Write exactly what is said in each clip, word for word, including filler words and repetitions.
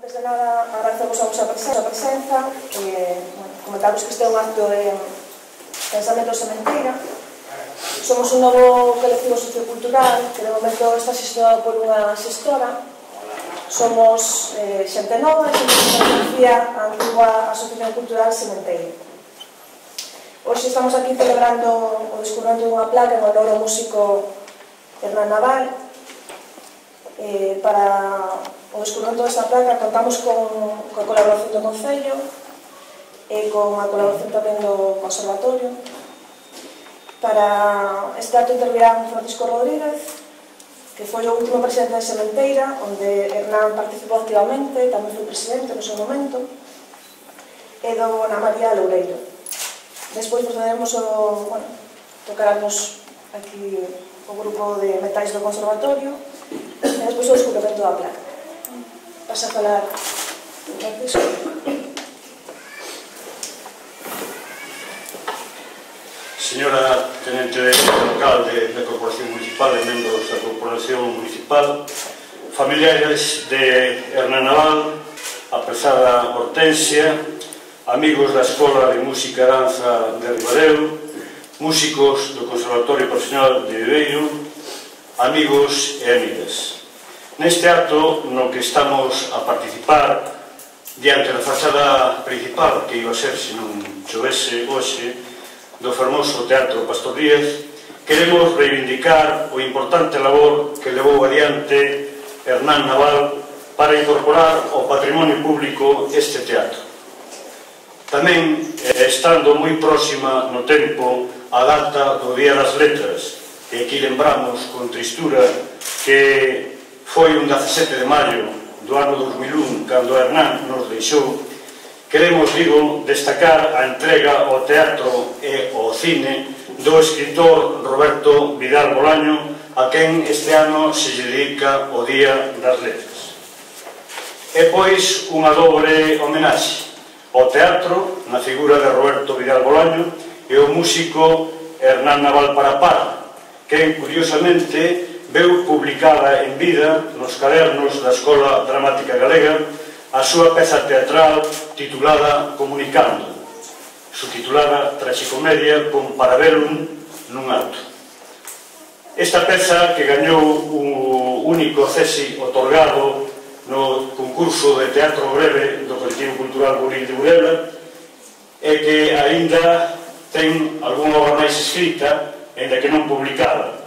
Antes de nada, agradecemos a vosa presenza e comentarvos que este é un acto de pensamento sementeira. Somos un novo colectivo sociocultural que de momento está xestionado por unha xestora. Somos eh, xente nova e xente que pertencía a antigua Asociación Cultural Sementeira. Hoxe estamos aquí celebrando o descubrimento dunha placa en honor ao músico Hernán Naval. Eh, para o descubrimento desta placa contamos con, con a colaboración do Concello e con a colaboración tamén do Conservatorio. Para este acto intervirán Francisco Rodríguez, que foi o último presidente de Sementeira, onde Hernán participou activamente, tamén foi presidente no seu momento, e do Ana María Loureiro. Despois procederemos o, bueno, tocaramos aquí o grupo de metais do Conservatorio e despois o descubrimento da placa. Pasa a falar Francisco. Señora Tenente de Local da Corporación Municipal e membros da Corporación Municipal, familiares de Hernán Naval, aprezada Hortensia, amigos da Escola de Música e Danza de Ribadeo, músicos do Conservatorio Profesional de Viveiro, amigos e amigas. Neste acto no que estamos a participar diante da fachada principal que iba a ser, se non chovese hoxe, do fermoso Teatro Pastor Díaz, queremos reivindicar o importante labor que levou adiante Hernán Naval para incorporar ao patrimonio público este teatro. Tamén, estando moi próxima no tempo a data do Día das Letras, e aquí lembramos con tristura que foi un dezasete de maio do ano dos mil un, cando Hernán nos deixou. Queremos, digo, destacar a entrega ao teatro e ao cine do escritor Roberto Vidal Bolaño, a quen este ano se lle dedica o Día das Letras. E pois unha dobre homenaxe ao teatro, na figura de Roberto Vidal Bolaño, e ao músico Hernán Naval Parapara, quen, curiosamente, veu publicada en vida nos cadernos da Escola Dramática Galega a súa peza teatral titulada Comunicando, subtitulada Traxicomedia con Parabellum nun acto. Esta peza, que gañou o único cesi otorgado no concurso de teatro breve do Colectivo Cultural Buril de Burela, e que aínda ten algunha obra máis escrita, ainda que non publicada,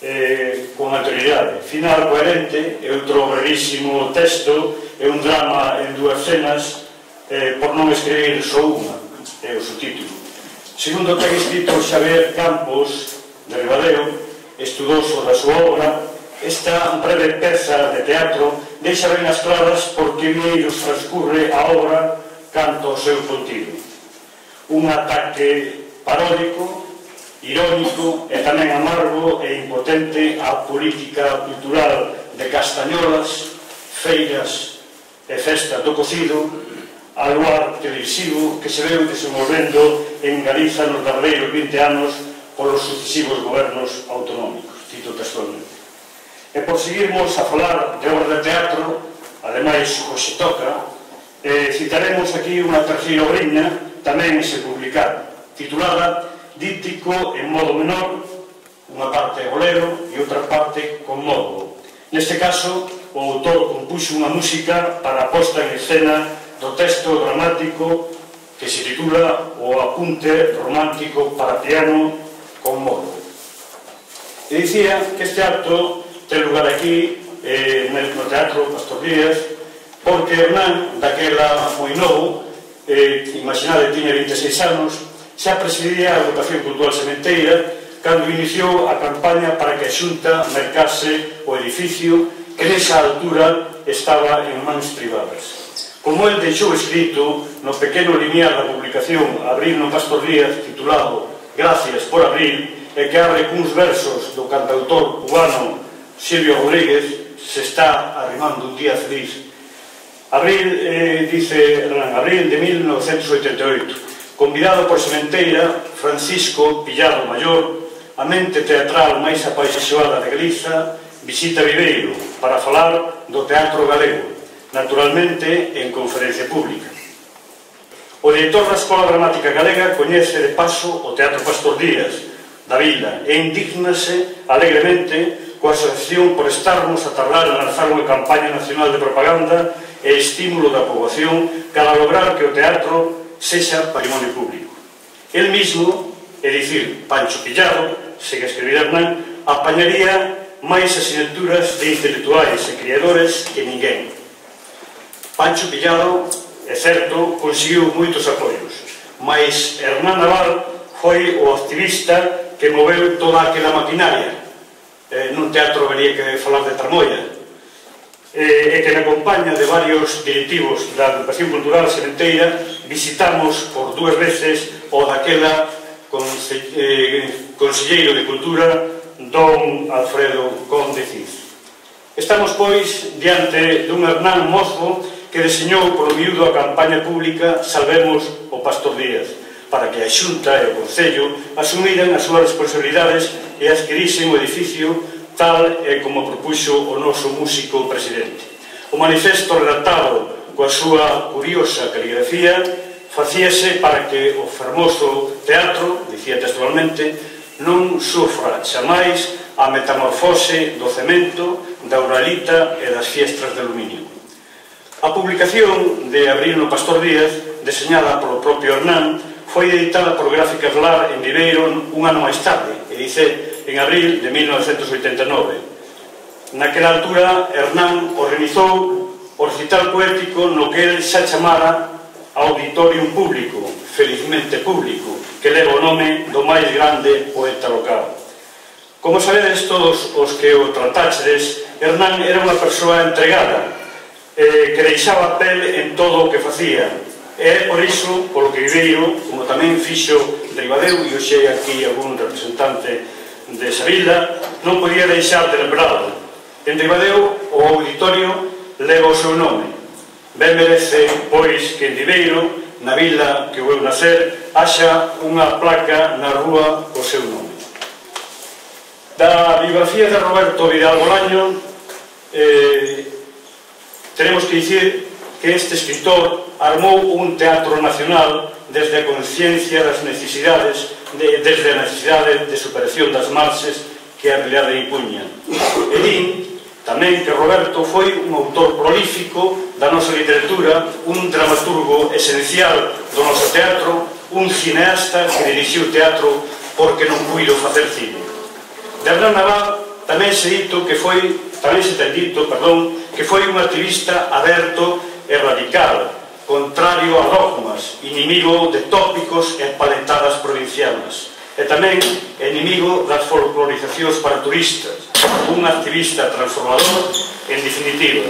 Eh, con anterioridade. Final coherente, é outro brevísimo texto, é un drama en dúas cenas, eh, por non escribir só unha, é o subtítulo. Segundo ten escrito Xavier Campos de Ribadeo, estudoso da súa obra, esta breve peza de teatro deixa ben as claras por que vieiros transcurre a obra canto ao seu contido. Un ataque paródico, irónico e tamén amargo e impotente á política cultural de castañolas, feiras e festas do cocido, ao luar televisivo que se veu desenvolvendo en Galiza nos derradeiros vinte anos polos sucesivos gobernos autonómicos, cito textualmente. E por seguirmos a falar de obra de teatro, ademais hoxe toca, eh, citaremos aquí unha terceira obriña, tamén se publicada, titulada Díptico en modo menor, unha parte bolero e outra parte con modo. Neste caso, o autor compuxo unha música para a posta en escena do texto dramático que se titula O apunte romántico para piano con modo. E dicía que este acto ten lugar aquí, eh, no Teatro Pastor Díaz, porque Hernán, daquela moi novo, eh, imaginade, tiña vinte e seis anos, xa presidía a Agrupación Cultural Sementeira cando iniciou a campaña para que a Xunta mercase o edificio que nesa altura estaba en mans privadas. Como el deixou escrito no pequeno lineal da publicación Abril no Pastor Díaz, titulado Gracias por Abril, e que abre cuns versos do cantautor cubano Silvio Rodríguez, se está arrimando un día feliz. Abril, eh, dice Hernán, Abril de mil novecentos oitenta e oito. Convidado por Sementeira, Francisco Pillado Maior, a mente teatral máis apaixonada de Galiza, visita Viveiro para falar do teatro galego, naturalmente en conferencia pública. O director da Escola Dramática Galega coñece de paso o Teatro Pastor Díaz da Vila e indígnase alegremente coa asociación por estarmos a tardar en lanzar unha campaña nacional de propaganda e estímulo da poboación para lograr que o teatro sexa patrimonio público. El mismo, é dicir, Pancho Pillado, segue a escribir Hernán, apañaría máis asignaturas de intelectuais e criadores que ninguén. Pancho Pillado, é certo, conseguiu moitos apoios, mas Hernán Naval foi o activista que moveu toda aquela maquinaria. Eh, nun teatro vería que falar de tramoia, eh, e que na compañía de varios directivos da Agrupación Cultural Sementeira visitamos por dúas veces o daquela conse eh, conselleiro de Cultura, don Alfredo Conde Cid. Estamos, pois, diante dun Hernán mozo que deseñou polo miúdo a campaña pública Salvemos o Pastor Díaz, para que a Xunta e o Concello asumiran as súas responsabilidades e adquirisen o edificio tal e como propuxo o noso músico presidente. O manifesto redactado coa súa curiosa caligrafía facíase para que o fermoso teatro, dicía textualmente, non sufra xamais a metamorfose do cemento, da uralita e das fiestras de aluminio. A publicación de Abril no Pastor Díaz, deseñada polo propio Hernán, foi editada por Gráficas Lar en Viveiro un ano máis tarde, e dice en abril de mil novecentos oitenta e nove. Naquela altura, Hernán organizou o recital poético no que el xa chamara Auditorium Público, felizmente público, que leva o nome do máis grande poeta local. Como sabedes todos os que o tratáchedes, Hernán era unha persoa entregada, eh, que deixaba a pel en todo o que facía. E por iso, polo que Viveiro, como tamén fixo Ribadeo, e hoxe aquí algún representante de esa vila, non podía deixar de lembrado. En Ribadeo, o auditorio leva o seu nome. Ben merece, pois, que en Viveiro, na vila que vou nacer, haxa unha placa na rúa co seu nome. Da biografía de Roberto Vidal Bolaño, eh, tenemos que dicir que este escritor armou un teatro nacional desde a conciencia das necesidades, de, desde a necesidade de superación das marxes que a realidade impuña. E din tamén que Roberto foi un autor prolífico da nosa literatura, un dramaturgo esencial do noso teatro, un cineasta que dirixiu o teatro porque non puido facer cine. De Hernán Naval tamén se dito que foi, tamén se ten dito, perdón, que foi un activista aberto e radical, contrario a dogmas, inimigo de tópicos e paletadas provincianas, e tamén inimigo das folclorizacións para turistas, un activista transformador, en definitiva.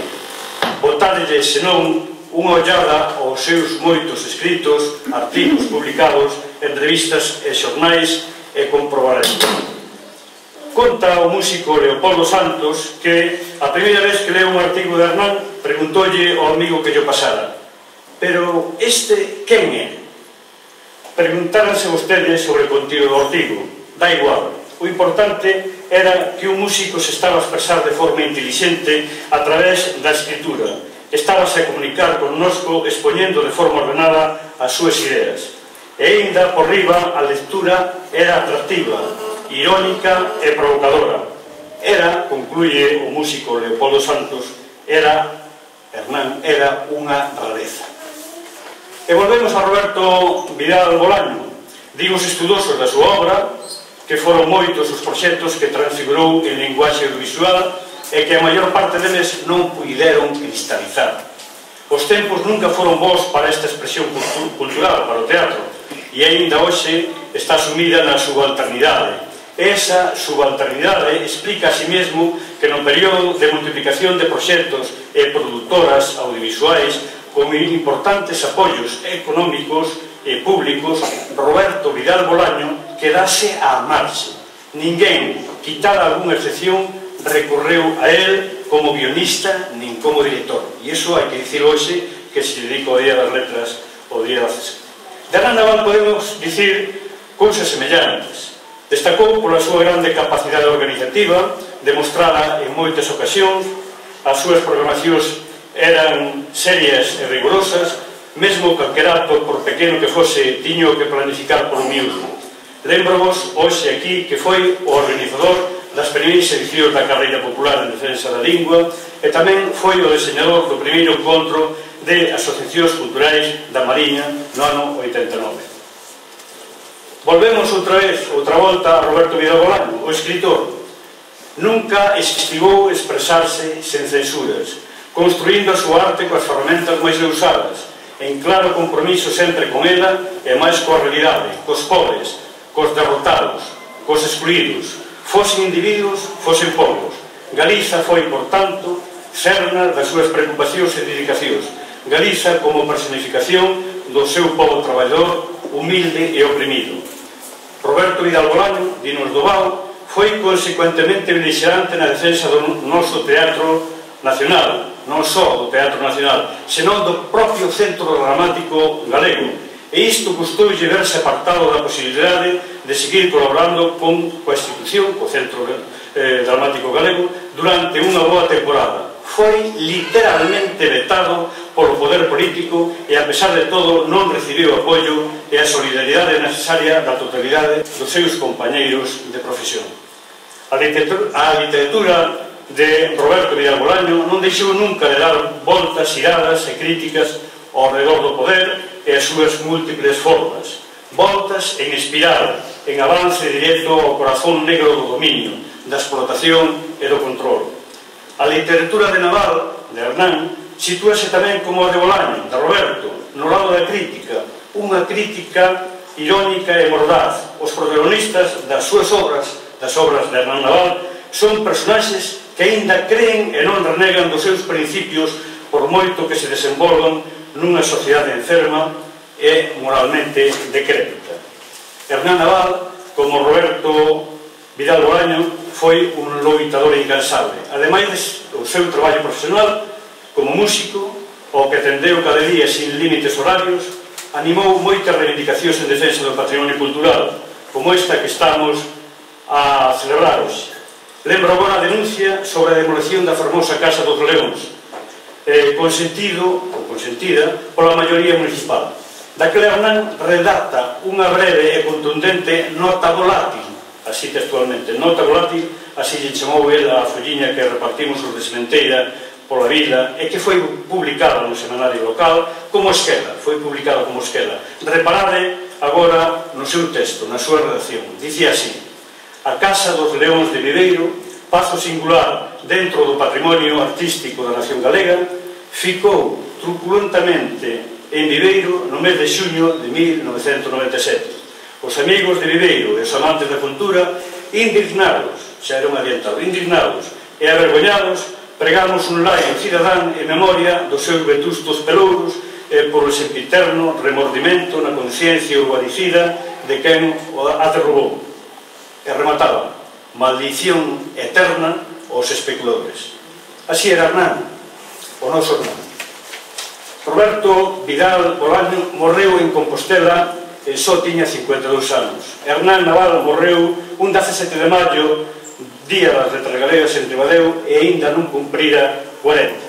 Botádelle, senón, unha ollada aos seus moitos escritos, artigos publicados en revistas e xornais e comprobaremos. Conta o músico Leopoldo Santos que a primeira vez que leu un artigo de Hernán preguntoulle ao amigo que lle pasara: pero este quen é? Preguntáranse vostedes sobre o contido do artigo. Da igual, o importante era que un músico se estaba a expresar de forma intelixente a través da escritura, estábase a comunicar connosco expoñendo de forma ordenada as súas ideas, e ainda por riba a lectura era atractiva, irónica e provocadora. Era, concluye o músico Leopoldo Santos, era, Hernán, era unha rareza. E volvemos a Roberto Vidal Bolaño. Digo os estudosos da súa obra, que foron moitos os proxectos que transfigurou en linguaxe audiovisual e que a maior parte deles non puideron cristalizar. Os tempos nunca foron bons para esta expresión cultural, para o teatro, e aínda hoxe está sumida na subalternidade. Esa subalternidade explica a si mesmo que no período de multiplicación de proxectos e produtoras audiovisuais con importantes apoios económicos e públicos, Roberto Vidal Bolaño quedase á marxe. Ninguén, quitada algunha excepción, recorreu a él como guionista nin como director. E iso hai que dicir hoxe, que se dedica ao Día das Letras, o Día das... De Hernán Naval podemos dicir cousas semellantes. Destacou pola súa grande capacidade organizativa, demostrada en moitas ocasións, as súas programacións eran serias e rigorosas, mesmo calquera acto, por pequeno que fose, tiño que planificar por miúdo. Lembro-vos hoxe aquí que foi o organizador das primeiras edicións da Carreira Popular en Defensa da Lingua e tamén foi o deseñador do primeiro encontro de asociacións culturais da Mariña no ano oitenta e nove. Volvemos outra vez, outra volta, a Roberto Vidal Bolaño, o escritor. Nunca esquivou expresarse sen censuras, construindo a súa arte coas ferramentas máis usadas, en claro compromiso sempre con ela e máis coa realidade, cos pobres, cos derrotados, cos excluídos, fosen individuos, fosen povos. Galiza foi, por tanto, cerna das súas preocupacións e dedicacións. Galiza como personificación do seu povo traballador, humilde e oprimido. Roberto Vidal Bolaño, dinos do Bao, foi consecuentemente beligerante na defensa do noso teatro nacional, non só do Teatro Nacional, senón do propio Centro Dramático Galego. E isto custoulle verse apartado da posibilidade de seguir colaborando con a institución, co Centro eh, Dramático Galego, durante unha boa temporada. Foi literalmente vetado polo poder político e, a pesar de todo, non recibiu apoio e a solidaridade necesaria da totalidade dos seus compañeiros de profesión. A literatura, a literatura de Roberto Vidal Bolaño non deixou nunca de dar voltas, iradas e críticas ao redor do poder e as súas múltiples formas. Voltas en espiral, en avance directo ao corazón negro do dominio, da explotación e do control. A literatura de Naval, de Hernán, sitúase tamén como a de Bolaño, de Roberto, no lado da crítica, unha crítica irónica e mordaz. Os protagonistas das súas obras, das obras de Hernán Naval, son personaxes que aínda creen e non renegan dos seus principios por moito que se desenvolvan nunha sociedade enferma e moralmente decrépita. Hernán Naval, como Roberto Vidal Bolaño, foi un loitador incansable. Ademais do seu traballo profesional como músico, ao que atendeu cada día sin límites horarios, animou moitas reivindicacións en defensa do patrimonio cultural, como esta que estamos a celebrar hoxe. Lembro agora a denuncia sobre a demolición da fermosa Casa dos Leóns, eh, consentido, ou consentida, pola maioría municipal. Daquela Hernán redacta unha breve e contundente nota volátil, así textualmente, nota volátil, así lle chamou el a folliña que repartimos os de Sementeira pola vila, e que foi publicada no semanario local como esquela, foi publicada como esquela. Reparade agora no seu texto, na súa redacción. Dicía así: a Casa dos Leóns de Viveiro, paso singular dentro do patrimonio artístico da nación galega, ficou truculentamente en Viveiro no mes de xuño de mil novecentos noventa e sete. Os amigos de Viveiro e os amantes da cultura, indignados, xa era un adiantado, indignados e avergoñados, pregamos un laio cidadán en memoria dos seus vetustos pelouros e polo sempiterno remordimento na conciencia urbanicida de quen a derrubou. E remataba: maldición eterna aos especuladores. Así era Hernán, o noso Hernán. Roberto Vidal Bolaño morreu en Compostela e só tiña cincuenta e dous anos. Hernán Naval morreu un dezasete de maio, día das letras galegas en Ribadeo, e aínda non cumprira cuarenta.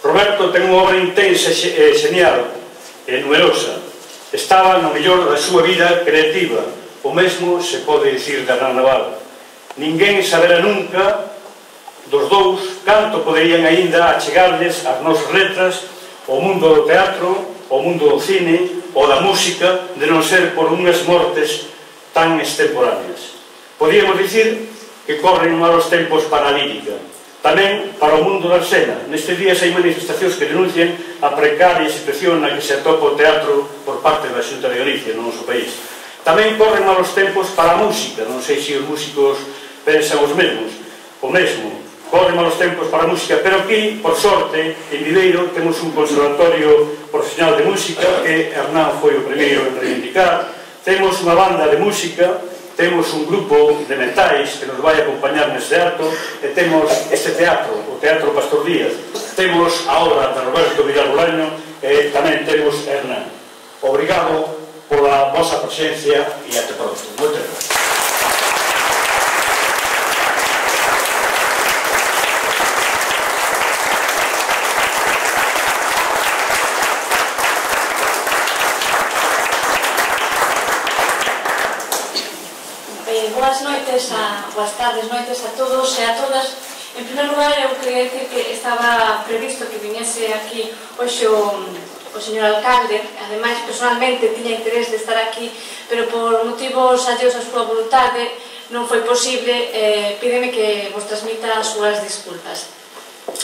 Roberto ten unha obra intensa e genial e numerosa. Estaba no mellor da súa vida creativa. O mesmo se pode dicir de Hernán Naval. Ninguén sabera nunca dos dous canto poderían aínda achegarles as nosas letras ao mundo do teatro, ao mundo do cine ou da música, de non ser por unhas mortes tan extemporáneas. Podíamos dicir que corren malos tempos para a lírica, tamén para o mundo da escena. Nestes días hai manifestacións que denuncian a precaria situación na que se atopa o teatro por parte da Xunta de Galicia no noso país. Tamén corren malos tempos para a música, non sei se os músicos pensan os mesmos, o mesmo. Corren malos tempos para a música, pero aquí, por sorte, en Viveiro temos un conservatorio profesional de música que Hernán foi o primeiro en reivindicar. Temos unha banda de música, temos un grupo de metais que nos vai acompañar neste acto, e temos este teatro, o Teatro Pastor Díaz. Temos a obra de Roberto Vidal Bolaño e tamén temos Hernán. Obrigado pola vosa presencia e até pronto. Moitas gracias. boas noites, a, boas tardes, noites a todos e a todas. En primer lugar, eu queria dicir que estaba previsto que viniese aquí hoxe o, o señor alcalde. Ademais, personalmente, tiña interés de estar aquí, pero por motivos alleos a súa voluntade non foi posible. Eh, pídeme que vos transmita as súas disculpas.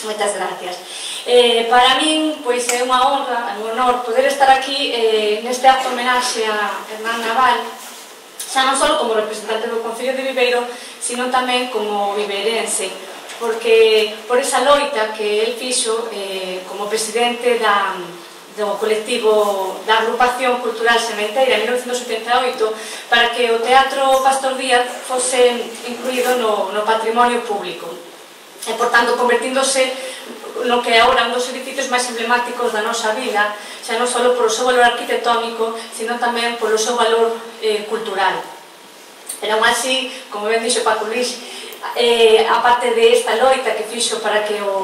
Moitas gracias. Eh, para min, pois, é unha honra, é un honor poder estar aquí eh, neste acto homenaxe a Hernán Naval, xa non só como representante do Concello de Viveiro, sino tamén como viveirense, porque por esa loita que el fixo eh, como presidente da, do colectivo da agrupación cultural Sementeira en mil novecentos oitenta e oito, para que o Teatro Pastor Díaz fose incluído no, no patrimonio público, e, por tanto, convertíndose no que é agora un dos edificios máis emblemáticos da nosa vila, xa non só polo seu valor arquitectónico, sino tamén polo seu valor eh, cultural. Pero, aún así, como ben dixo Paco Luís, eh, a parte de esta loita que fixo para que o,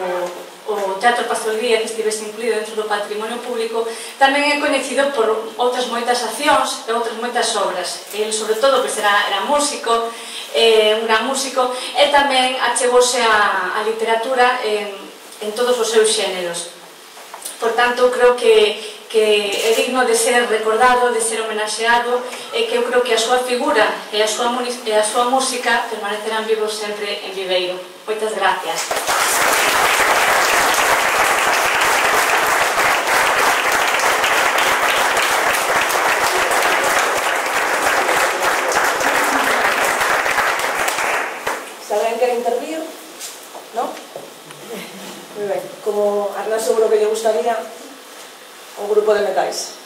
o Teatro Pastor Díaz estivese incluído dentro do patrimonio público, tamén é coñecido por outras moitas accións e outras moitas obras. El, sobre todo, pois era, era músico, eh, un gran músico, e tamén achegose a, a literatura en, en todos os seus xéneros. Por tanto, creo que, que é digno de ser recordado, de ser homenaxeado, e que eu creo que a súa figura e a súa, e a súa música permanecerán vivos sempre en Viveiro. Moitas gracias. Se alguén quere intervir, non? Moi ben, como a Hernán seguro que lle gustaría un grupo de metais.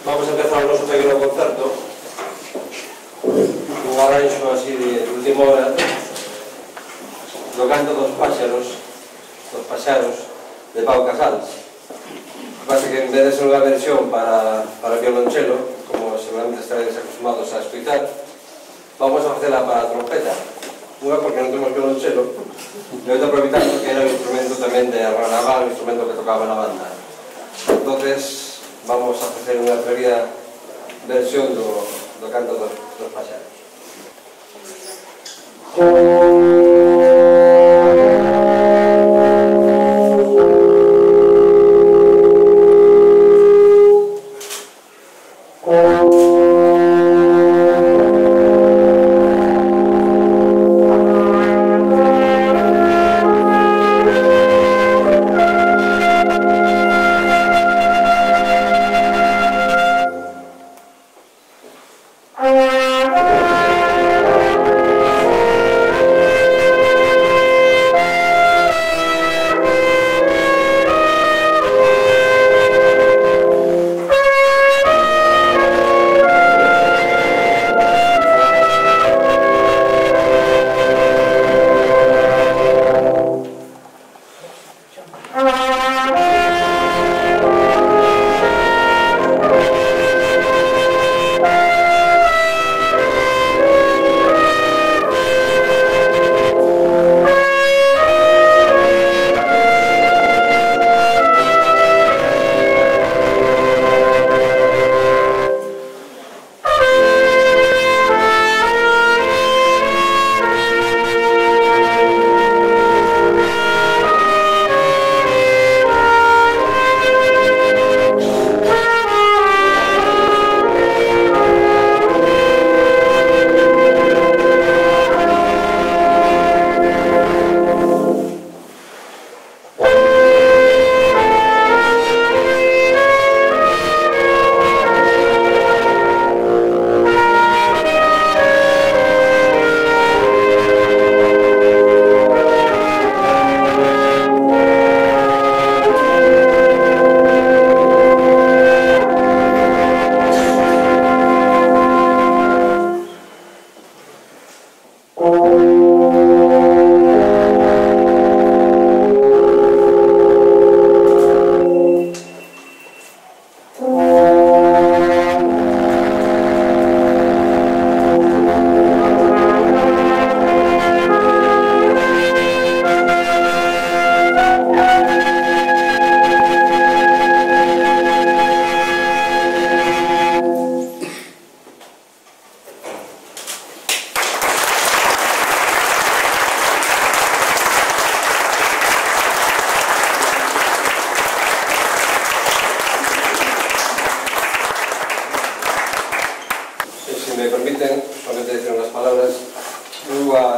Vamos a empezar o noso pequeno concerto un arranxo así de última hora do canto dos páxaros dos paxaros de Pau Casals. Pasa que en vez de ser unha versión para, para violonchelo, como seguramente estaréis acostumados a escutar, vamos a facela para a trompeta. Unha porque non temos violonchelo, e outra aproveitando que era o instrumento tamén de Hernán Naval, o instrumento que tocaba na banda. Entonces, vamos a facer unha atrevida versión do, do canto dos, dos paxaros.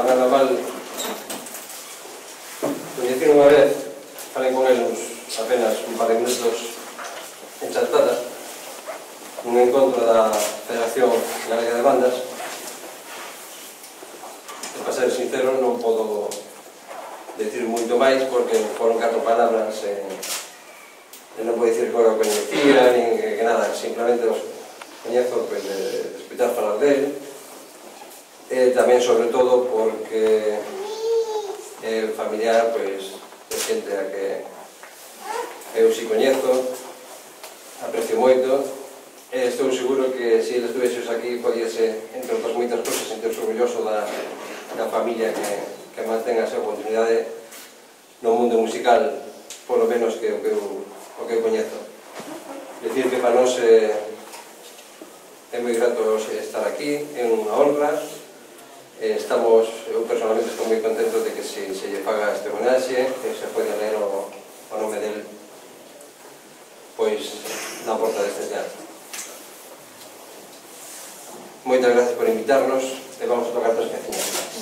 Fernando Naval, coñecí unha vez, falei con el uns apenas un par de minutos en Chantada, nun encontro da Federación Galega de Bandas. E para ser sincero, non podo decir moito máis porque foron catro palabras e, e non podo dicir que o coñecía nin que nada, simplemente os coñezo pues, de, de escutar falar dele e tamén sobre todo porque é familiar pues, de xente a que eu si coñezo, aprecio moito e estou seguro que se eles estuvexos aquí podíase, entre outras moitas cosas, sentirse orgulloso da, da familia que, que mantén a súa continuidade no mundo musical, polo menos que o que eu, o que eu coñezo. Decir que para nós é, é moi grato estar aquí, é unha honra. Estamos, eu personalmente estou moi contento de que se, se lle paga este homenaxe, que se pode ler o, o nome del pois na porta deste teatro. Moitas gracias por invitarnos e vamos a tocar tres cancións.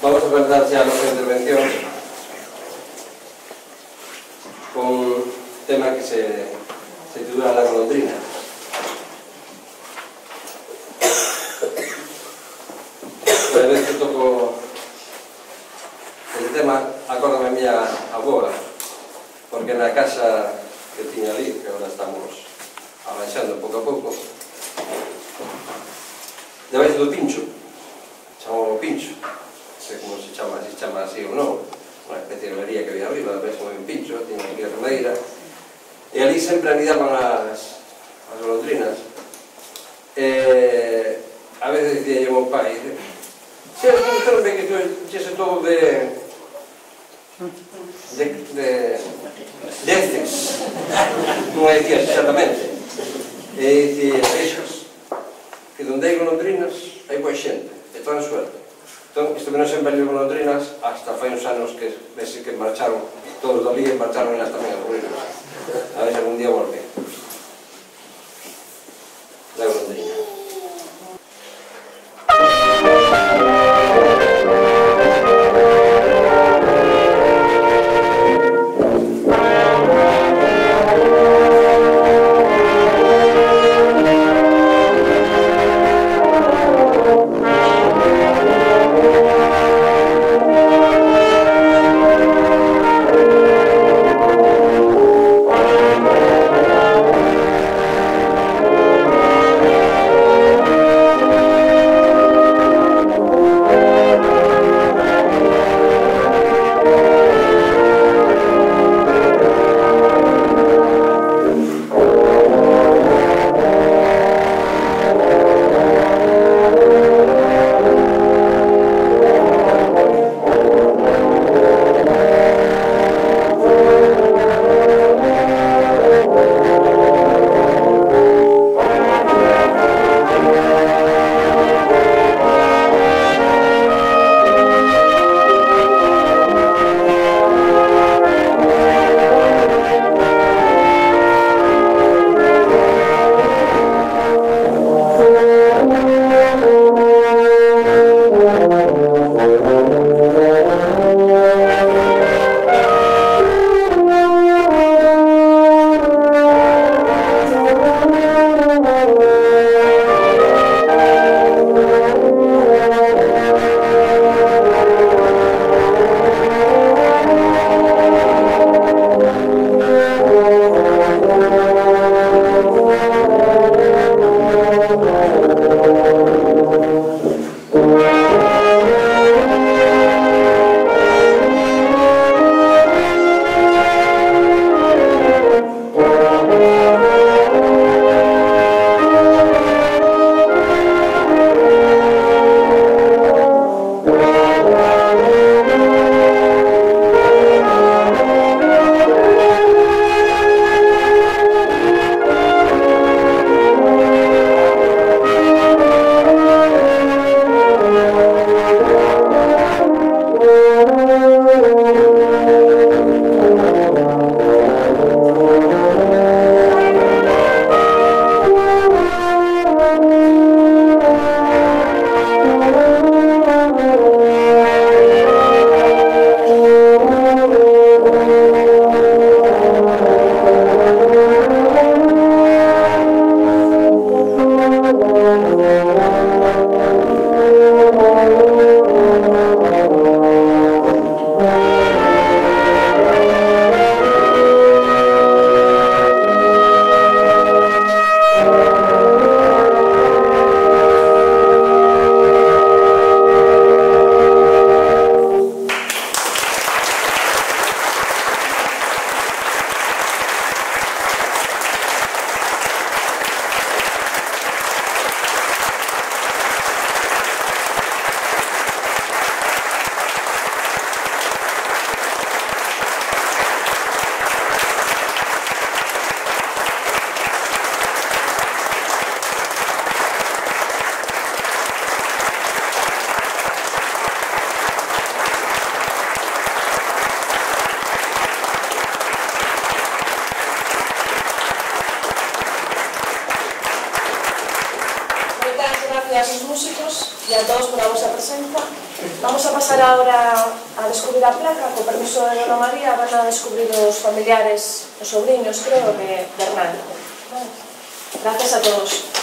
Vamos a comenzar ya nuestra intervención con un tema que se, se titula La golondrina. Cada vez que toco el tema, acórdame a miña avoa, porque na casa que tiña ali, que agora estamos arranxando pouco a pouco, debaixo do pincho, chamamos pincho, non sei como se chama, se chama así ou non, unha especie de olería que había arriba, debaixo de un pincho, tiña aquí a remeira, e ali sempre anidaban as, as golondrinas. E a veces dicía yo ao pai, se as golondrinas que tuese todo de de de deces, non é dicía exactamente, e dicía, vexas que donde hai golondrinas hai boa xente, e tan suerte. Entón, isto que non sempre hai golondrinas, hasta fai uns anos que vese que marcharon todos do ali e marcharon elas tamén a golondrinas. A ver se algún día volve. La golondrina. Thank you. os músicos e a todos pola vosa presenza. Vamos a pasar agora a descubrir a placa, co permiso de Dona María, van a descubrir os familiares, os sobriños, creo, de Hernán. Gracias a todos.